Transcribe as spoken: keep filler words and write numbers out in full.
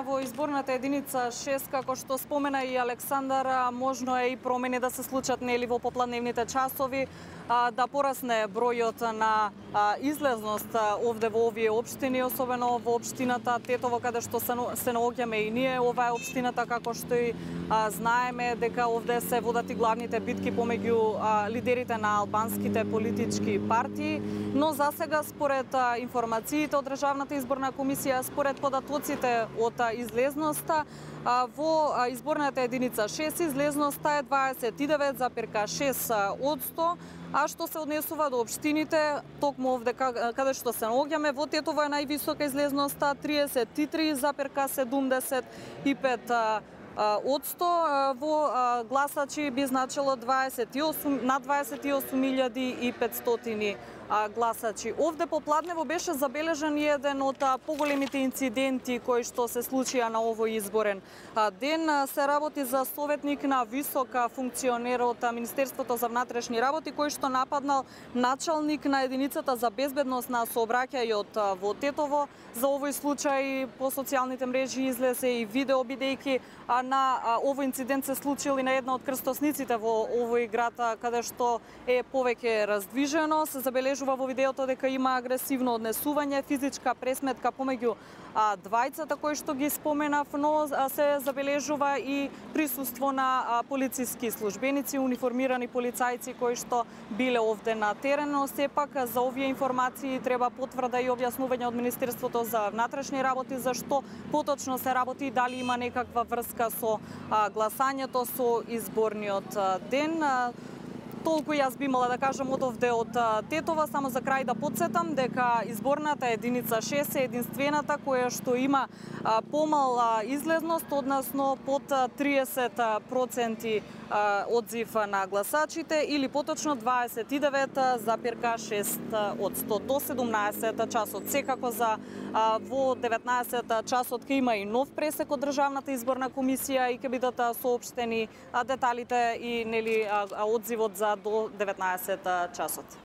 Во изборната единица шест, како што спомена и Александар, можно е и промени да се случат нели во попладневните часови, да порасне бројот на излезност овде во овие општини, особено во општината Тетово, каде што се наоѓаме и ние. Ова е општината, како што и знаеме, дека овде се водат и главните битки помеѓу лидерите на албанските политички партии, но засега според информациите од Државната изборна комисија, според податоците од излезноста, во изборната единица шест излезноста е дваесет и девет запирка шест одсто, а што се однесува до општините, токму овде каде што се наоѓаме, во Тетово е највисока излезноста триесет и три запирка седумдесет и пет одсто, во гласачи би значило дваесет и осум, над дваесет и осум илјади и петстотини гласачи. Овде попладнево беше забележан еден од поголемите инциденти кои што се случија на овој изборен ден. Се работи за советник на висока функционер од Министерството за внатрешни работи, кој што нападнал началник на единицата за безбедност на сообраќајот во Тетово. За овој случај по социјалните мрежи излезе и видео, бидејќи на овој инцидент се случил и на една од крстосниците во овој град, каде што е повеќе раздвижено. Се забележува во видеото дека има агресивно однесување, физичка пресметка помеѓу двајцата кои што ги споменав, но се забележува и присуство на полициски службеници, униформирани полицајци кои што биле овде на терен, но сепак за овие информации треба потврда и објаснување од Министерството за внатрешни работи зашто поточно се работи и дали има некаква врска со гласањето со изборниот ден. Толку јас би имала да кажам од овде од Тетова. Само за крај да подсетам дека изборната единица шест е единствената која што има помал излезност, односно под триесет проценти одзив на гласачите или поточно дваесет и девет запирка шест одсто до седумнаесет часот. Секако за во деветнаесет часот ќе има и нов пресек од Државната изборна комисија и ќе бидат соопштени деталите и нели одзивот за до деветнаесет часот.